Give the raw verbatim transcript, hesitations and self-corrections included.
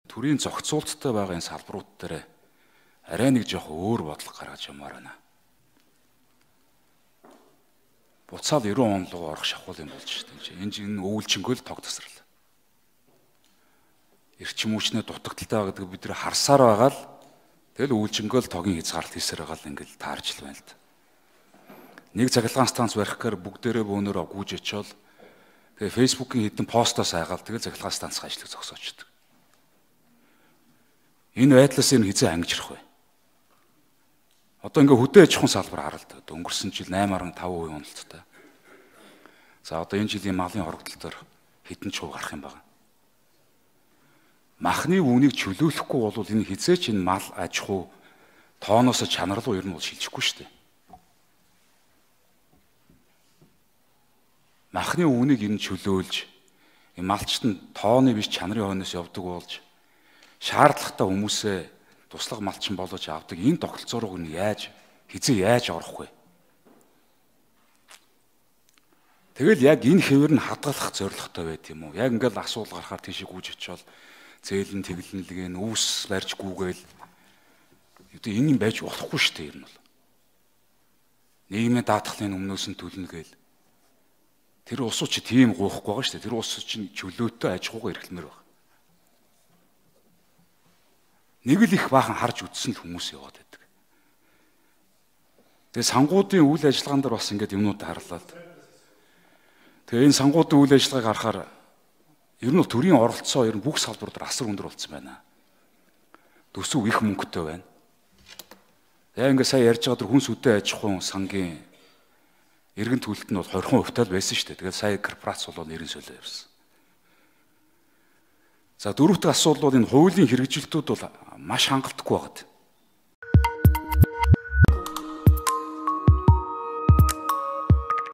төрийн зохицуулттай байгаа энэ салбарууд дээр арай нэг жоох өөр бодлого гаргаж ямаар байна. Буцаал ерөн он руу орох шахуулын болж шүү дээ. Энэ энэ өвлжөнгөө л тог тасрал. Эрчим хүчний дутагдaltaй гэдэг бид нэр харсаар байгаа л тэгэл өвлжөнгөө л тогийн хязгаарлалт хийсээр байгаа л ингээл таарч л байна л да. Нэг цахилгаан станц барих гэхээр бүгдээрээ бөөнөрөө гүйж очиод тэгээ фэйсбүүкийн хэдэн постоос айгаал тэгэл цахилгаан станцын ажлыг зогсоочдөг. Энэ байдлаас энэ хизээ ангижрах вэ? Одоо ингээ хөдөө аж ахуйн салбар харалт. Өнгөрсөн жил найман гаруй таван хувийн уналттай. За одоо энэ жилийн малын хорогдол төр хэдэн чуу гарах юм байна. Махны үүнийг чөлөөлөхгүй бол энэ хизээч энэ мал аж ахуй тооноос чанар руу ер нь бол шилжихгүй шүү дээ. Махны үүнийг энэ чөлөөлж энэ малчт нь тооны биш чанарын хойноос явдаг болж шаардлагатай хүмүүсээ туслах малчин болгож авдаг энэ тогтолцоороо нь яаж хизээ яаж орох вэ? Тэгэл яг энэ хэвээр нь хадгалах зорилготой байт юм уу? Яг ингээл асуул гарахаар тийшээ гүйж очиод зээлэн тэглэнлэгэн үүс барьж гүүгээл одоо энэ юм байж болохгүй шүү дээ ер нь бол. Нийгмийн даатгалын өмнөөс нь төлнөгээл тэр улсууд чи тийм гуйхгүй байгаа шүү дээ. Тэр улсууд чинь чөлөөтэй аж ахуйгаа эрхлэмээр байна. Нэг л их баахан харж үтсэн л хүмүүс яваад байдаг. Тэгээ сангуудын үйл ажиллагаан дээр бас ингээд юмнууд харлаа. Тэгээ энэ сангуудын үйл ажиллагааг харахаар ер нь төрийн оролцоо ер нь бүх салбар дээр асар өндөр болсон байна. Төсөв их мөнгөтэй байна. Тэгээ ингээд сая ярьж байгаа дөр хүнс үдэ аж ахуйн сангийн эргэн төлөлт нь бол двадцать хувьтай л байсан шүү дээ. Тэгээд сая корпорац бол нэрэн солио явсан. За дөрөвт асуудал бол энэ хуулийн хэрэгжилтүүд бол маш хангалтгүй байгаад.